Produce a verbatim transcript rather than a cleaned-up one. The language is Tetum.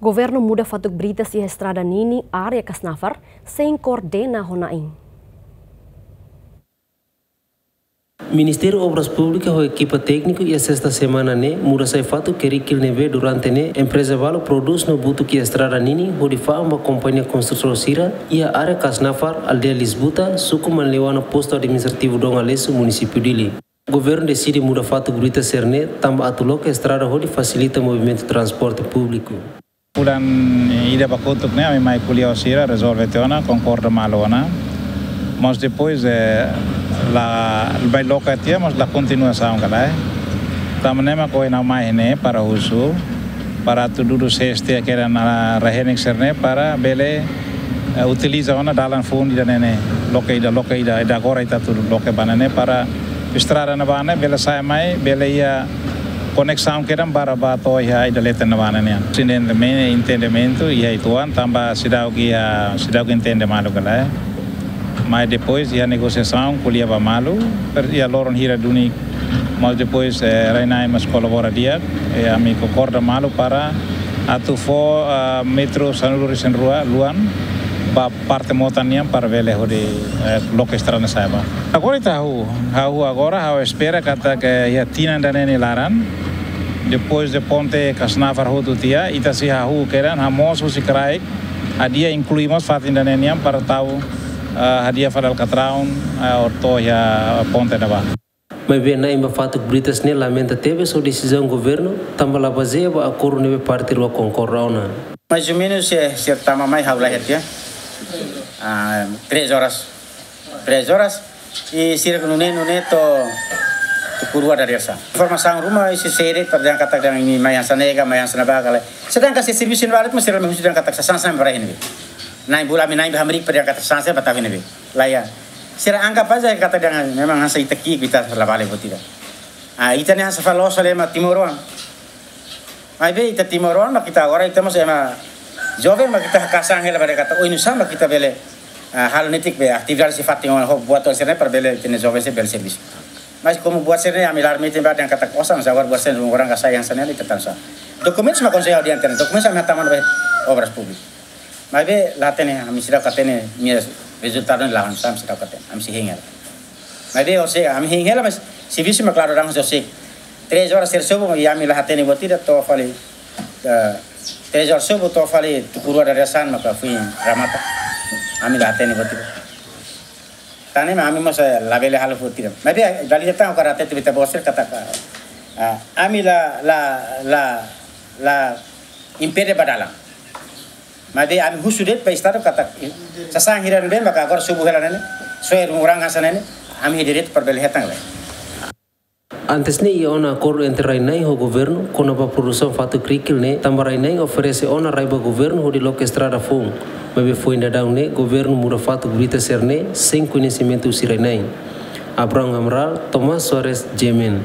Governu muda fatuk britas iha estrada ninin área Kasnafar, sein koordena ho na'in. Ministériu Obras Públikas ho ekipa tékniku iha sesta semana ne'e muda sai fatuk kerikil ne'ebé durante ne'e empreza balu prodús no butuk iha estrada ninin hodi fa'an ba kompañia konstrutór sira iha área Kasnafar, aldeia Lisbuta, suku Manleuana, postu administrativu Dom Aleixo, munisípiu Dili. Governu deside muda fatuk britas sira-ne'e tanba atu loke estrada hodi fasilita movimentu transporte públiku. Fulan ida ba kotuk ne'e, ami mai ko'alia ho sira, rezolve tiha ona, konkorda malu ona. Mas depois, eh, la, bai loke tiha, mas la kontinuasaun ka lae. Tanba ne'e mak ohin ha'u mai ne'e para husu, para atu dudu sees tiha kedan rai-henek sira-ne'e para bele, eh, utiliza ona dalan foun ida-ne'e ne'e. Loke ida, loke ida, ida agora ita atu loke ba ne'e ne'e para estrada ne'ebá ne'e bele sai mai, bele iha koneksaun kedan para ba to'o iha ida leten ne'ebá ne'e nian. Entendimentu, entendimentu iha uitoan tanba seidauk iha, seidauk entende malu ka lae. Mas depois iha negosiasaun ko'alia ba malu, per iha loron hira duni, mas depois, eh, rai-na'in mós kolabora di'ak, eh, ami konkorda malu para atu fó, ah, metru sanulu-resin-rua luan ba parte Motan nian para bele hodi, eh, loke estrada ne'e sai ba. Agora ita hahú, hahú agora, ha'u espera katak iha tinan ida-ne'e nia laran, depois de ponte Kasnafar hotu tiha, ita sei hahú kedan, hamoos husi kraik, hadi'a inklui mós fatin ida-ne'e nian para tau, eh, hadi'a fali alkatraun, eh, to'o iha ponte ne'ebá. Maibé na'in ba fatuk britas ne'e lamenta tebes ho desizaun governu, tanba la bazeia ba akordu ne'ebé parte rua konkorda ona. Mais ou menos, eh, sira tama mai ha'u la iha tiha. Ah, três horas. Três horas. I sira nune'e, nune'e to'o tuku rua dadeer-saan. Informasaun ruma isi sere para dehan katak dehan imi mai hanesan ne'e ka, mai hanesan ne'ebá ka lae. Sedangkan sira servisu iha ne'ebá, mas sira mai husu dehan katak sasán sasán ba rai iha ne'ebé. Na'in bula ami na'in ba hamriik para dehan katak sasán sasán ba tau iha ne'ebé. Lae. Sira anggap aja katak dehan memang hanesan ita ki'ik, ita la vale buat ida. Ah, ita ne'e hanesan fali loos fali ema timoroan. Maibé ita timoroan mak ita agora ita mós ema joven mak ita haka'as an hela ba dehan katak oinsá mak ita bele, ah, halo netik be atividade sira fatin ona ho buat sira-ne'e para bele ita-nia joven sira bele servisu. Mas komu buat sira-ne'e ami la admite ba dehan katak osan, mas agora buat sira-ne'e ruma orang ka sai hanesan ne'e ita tansá. Dokumentus mak konsege ha'u dehan tiha ona, dokumentus ami hatama ba Obras Públikas. Maibé la hatene, ami seidauk hatene, nia rezultadu ne'e la hanesan, ami seidauk hatene, ami sei hein hela. Maibé orsida ami hein hela, mas servisu mak klaru dehan orsida. Três horas sira sobu, i ami la hatene buat ida to'o fali, eh, três horas sobu to'o fali tuku rua dadeer-saan maka foin remata. Ami la hatene buat ida. Tan ne'e mak ami mós, eh, labele halo buat ida. Maibé, eh, dala ida tan ha'u hakarak hatete ba ita-boot sira katak, eh, ami la, la, la, la impede ba dalan. Maibé ami husu de'it ba Estadu katak sasán hira ne'ebé maka agora sobu hela ne'e ne'e, soe ruma orang hanesan ne'e ne'e, ami iha direitu para bele hetan ka lae. Antes ne'e iha ona akordu entre rai-na'in ho governu kona-ba produsaun fatuk kerikil ne'e, tanba rai-na'in oferese ona rai ba governu hodi loke estrada foun. Maibé foin daudaun ne'e governu muda fatuk britas sira-ne'e sein koñesimentu husi rai-na'in. Abraham Amaral, Tomás Soares, G M N.